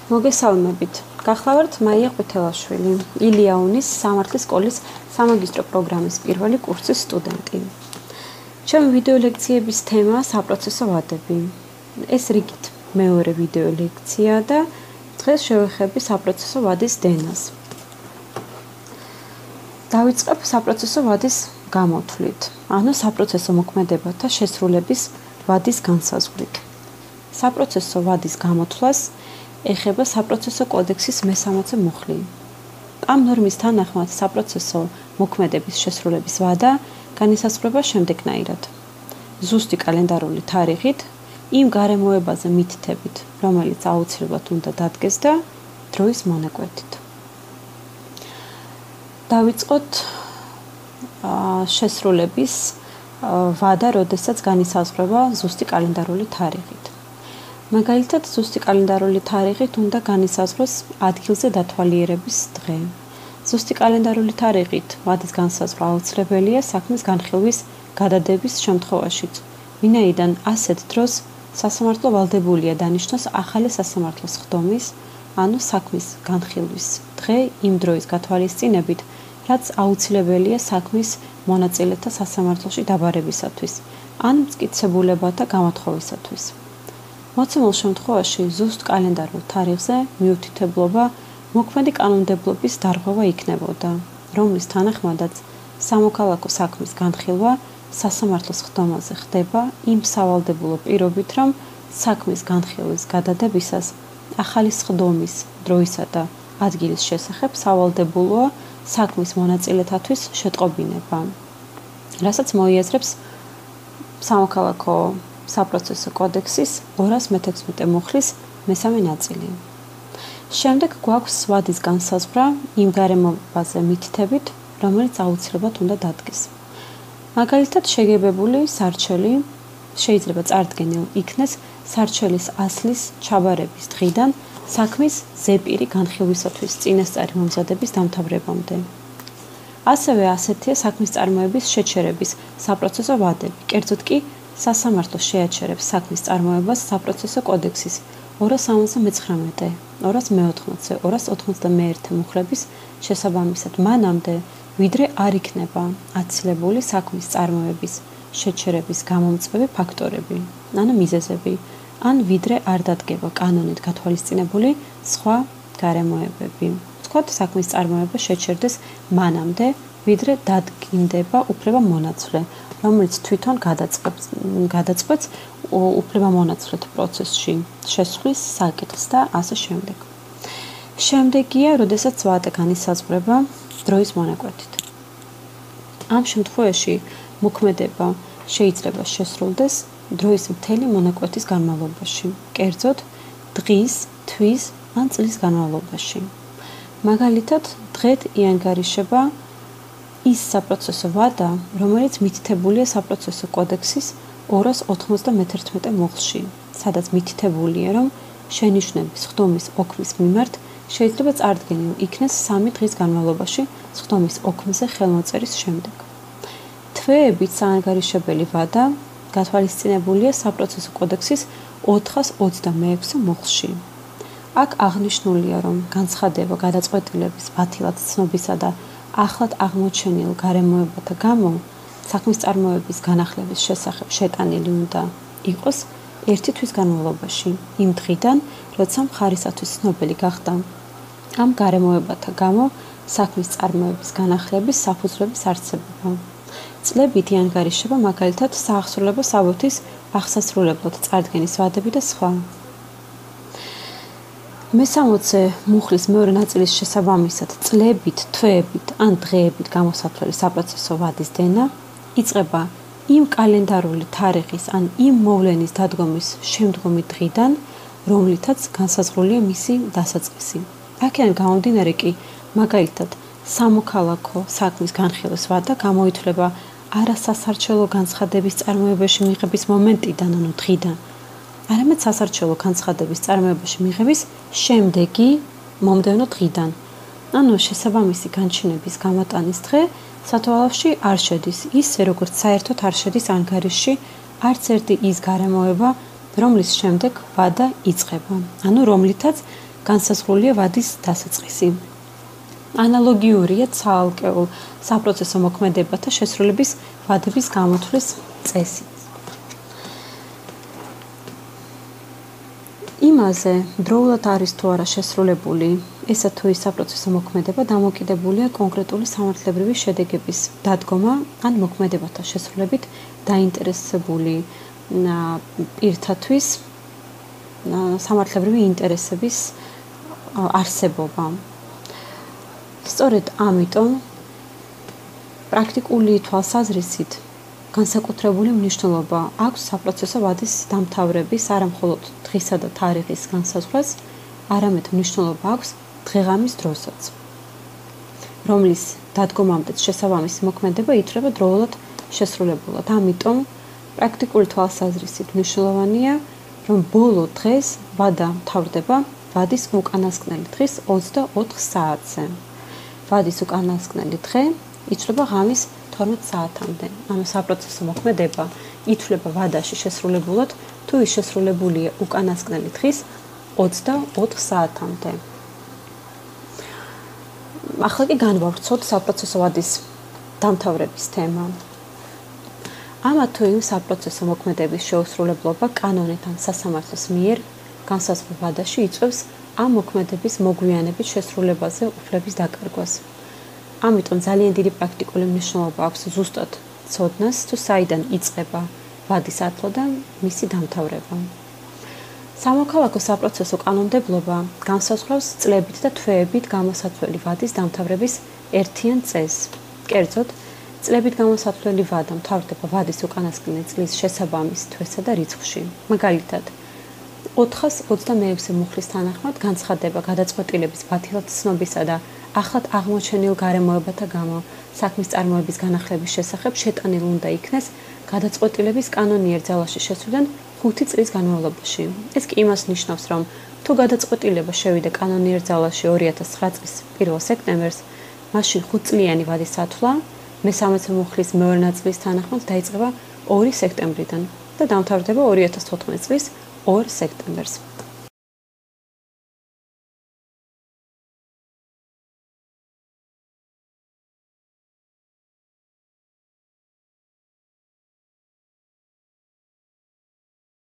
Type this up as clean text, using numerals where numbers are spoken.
მოგესალმებით. გახლავართ მაია ყვითელაშვილი, ილიაუნის სამართლის სკოლის სამაგისტრო პროგრამის პირველი კურსის სტუდენტი. ჩემი ვიდეო ლექციების თემაა საპროცესო ვადები. ეს რიგით მეორე ვიდეო ლექცია და დღეს შევეხები საპროცესო ვადის დენას. დავიწყებ საპროცესო ვადის გამოთვლით, ანუ საპროცესო მოქმედებათა შესრულების ვადის განსაზღვრით. საპროცესო ვადის გამოთვლას ეხება საპროცესო კოდექსის მე-60 მუხლი. ამ ნორმის თანახმად საპროცესო მოქმედების შესრულების ვადა განისაზღვრება შემდეგნაირად: ზუსტი კალენდარული თარიღით, იმ გარემოებაზე მითითებით, რომელიც აუცილებლად უნდა დადგეს და დროის მონაკვეთით. დავიწყოთ შესრულების ვადა, როდესაც განისაზღვრება ზუსტი კალენდარული თარიღით. მაგალითად, ზუსტი კალენდარული თარიღით უნდა განისაზღვროს ადგილზე დათვალიერების დღე. ზუსტი კალენდარული თარიღით ვადის განსაზღვრა აუცილებელია საქმის განხილვის გადადების შემთხვევაშიც, ვინაიდან ასეთ დროს სასამართლო ვალდებულია დანიშნოს ახალი სასამართლოს ხდომის, ანუ საქმის განხილვის დღე იმ დროის გათვალისწინებით, რაც აუცილებელია საქმის მონაწილეთა სასამართლოში დაბარებისათვის, ან მტკიცებულებათა გამოთხოვისათვის. მოცემულ შემთხვევაში ზუსტ კალენდარულ თარიღზე მიუთითებლობა მოქმედი კანონმდებლობის დარღვევა იქნებოდა, რომლის თანახმადაც სამოქალაქო საქმის განხილვა სასამართლოს ხდომაზე ხდება იმ სავალდებულო პირობით, რომ საქმის განხილვის გადადებისას ახალი ხდომის დროისა და ადგილის შესახებ სავალდებულოა საქმის მონაწილეთათვის შეტყობინება, რასაც მოიაზრებს სამოქალაქო საპროცესო კოდექსის 216 მუხლის მე-3 ნაწილი. შემდეგ გვაქვს ვადის განსაზღვრა იმ გარემოებაზე მითითებით, რომელიც აუცილებლად უნდა დადგეს. მაგალითად, შეგებებული სარჩელი შეიძლება წარდგენილ იქნეს სარჩელის ასლის ჩაბარების დღიდან საქმის ზეპირი განხილვისათვის წინასწარი მომზადების დამთავრებამდე. ასევე ასეთია საქმის წარმოების შეჩერების საპროცესო ვადები, კერძოდ კი სასამართლო შეაჩერებს საქმის წარმოებას საპროცესო კოდექსის 279, 214, 291 მუხლების შესაბამისად მანამდე, ვიდრე არ იქნება აცილებული საქმის წარმოების შეჩერების გამომწვევი ფაქტორები, ანუ მიზეზები, ან ვიდრე არ დადგება კანონით გათვალისწინებული სხვა გარემოებები. ვთქვათ, საქმის წარმოება შეჩერდეს მანამდე, ვიდრე დადგინდება უფლება-მონაცვლე, რომელიც თვითონ გადაწყვეტს უფლება-მონაცვლეთ პროცესში შესვლის საკითხს და ასე შემდეგ. შემდეგია, როდესაც ვადა განისაზღვრება დროის მონაკვეთით. ამ შემთხვევაში მოქმედება შეიძლება შესრულდეს დროის მთელი მონაკვეთის განმავლობაში, კერძოდ დღის, თვის ან წლის განმავლობაში. მაგალითად, დღედ იანგარიშება ის საპროცესო ვადა, რომელიც მითითებულია საპროცესო კოდექსის 291 მუხლში, სადაც მითითებულია, რომ შენიშვნების ხდომის ოქმის მიმართ შეიძლება წარდგენილ იქნეს 3 დღის განმავლობაში ხდომის ოქმზე ხელმოწერის შემდეგ. თვეებით საანგარიშებელი ვადა გათვალისწინებულია საპროცესო კოდექსის 426 მუხლში. აქ აღნიშნულია, რომ განცხადება გადაწყვეტილების ბათილად ცნობისა და ახლად აღმოჩენილ გარემოებათა გამო საქმის წარმოების განახლების შესახებ შეტანილი უნდა იყოს 1 თვის განმავლობაში, იმ დღიდან, როცა მხარისათვის ცნობილი გახდა ამ გარემოებათა გამო საქმის წარმოების განახლების საფუძვლების არსებობა. წლებით იანგარიშება მაგალითად საახსრულებო საბუთის აღსასრულებლად წარდგენის ვადები და სხვა. მე-60 მუხლის მეორე ნაწილის შესაბამისად წლებით, თვეებით ან დღეებით გამოსათვლელი საპროცესო ვადის დენა იწყება იმ კალენდარული თარიღის ან იმ მოვლენის დადგომის შემდგომი დღიდან, რომლითაც განსაზღვრულია მისი დასაწყისი. აქედან გამომდინარე კი, მაგალითად, სამოქალაქო საქმის განხილვის ვადა გამოითვლება არასასარჩელო განცხადების წარმოებაში მიღების მომენტიდან, ანუ დღიდან, არამედ სასარჩელო განცხადების წარმოებაში მიღების შემდეგი მომდევნო დღიდან. ანუ შესაბამისი განჩინების გამოტანის დღე სათვალავში არ შედის, ისე როგორც საერთოდ არ შედის ანგარიშში არც ერთი ის გარემოება, რომლის შემდეგ ვადა იწყება, ანუ რომლითაც განსაზღვრულია ვადის დასაწყისი. ანალოგიურია ცალკეულ საპროცესო მოქმედებათა შესრულების ვადების გამოთვლის წესი. იმაზე დროულად არის თუ არა შესრულებული ესა თუ ის საპროცესო მოქმედება დამოკიდებულია კონკრეტული სამართლებრივი შედეგების დადგომა ან მოქმედებათა შესრულებით დაინტერესებული პირთათვის სამართლებრივი ინტერესების არსებობა. სწორედ ამიტომ პრაქტიკული თვალსაზრისით განსაკუთრებული მნიშვნელობა აქვს საპროცესო ვადის დამთავრების არამხოლოდ დღისა და თარიღის განსაზღვრას, არამედ მნიშვნელობა აქვს დღეღამის დროსაც, რომლის დადგომამდეც შესაბამისი მოქმედება ითვლება დროულად შესრულებულად. ამიტომ პრაქტიკული თვალსაზრისით მნიშვნელოვანია, რომ ბოლო დღეს ვადა მთავრდება ვადის უკანასკნელი დღის 24 საათზე. ვადის უკანასკნელი დღე ითვლება ღამის 12 საათამდე. ანუ საპროცესო მოქმედება ითვლება ვადაში შესრულებულად, თუ ის შესრულებულია უკანასკნელი დღის 24 საათამდე. ახლა კი განვავრცოთ საპროცესო ვადის დამთავრების თემა. ამა თუ იმ საპროცესო მოქმედების შეუსრულებლობა კანონით ან სასამართლოს მიერ განსაზღვრულ ვადაში იწვევს ამ მოქმედების მოგვიანებით შესრულებაზე უფლების დაკარგვას. ამიტომ ძალიან დიდი პრაქტიკული მნიშვნელობა აქვს ზუსტად ცოდნას, თუ საიდან იწყება ვადის ათლა და მისი დამთავრება. სამოქალაქო საპროცესო კანონმდებლობა განსაზღვრავს წლებით და თვეებით გამოსათვლელი ვადის დამთავრების ერთიან წესს. კერძოდ, წლებით გამოსათვლელი ვადა მთავრდება ვადის უკანასკნელი წლის შესაბამის თვესა და რიცხვში. მაგალითად, 426 მუხლის თანახმად განცხადება გადაწყვეტილების ბათილაცნობისა და ახლად აღმოჩენილ გარემოებათა გამო საქმის წარმოების განახლების შესახებ შეტანილი უნდა იქნეს გადაწყვეტილების კანონიერ ძალაში შესვლიდან 5 წლის განმავლობაში. ეს კი იმას ნიშნავს, რომ თუ გადაწყვეტილება შევიდა კანონიერ ძალაში 2009 წლის 1 სექტემბერს, მაშინ 5 წლიანი ვადის ათვლა მე-13 მუხლის მეორე ნაწილის თანახმად დაიწყება 2 სექტემბრიდან და დამთავრდება 2014 წლის 2 სექტემბერს.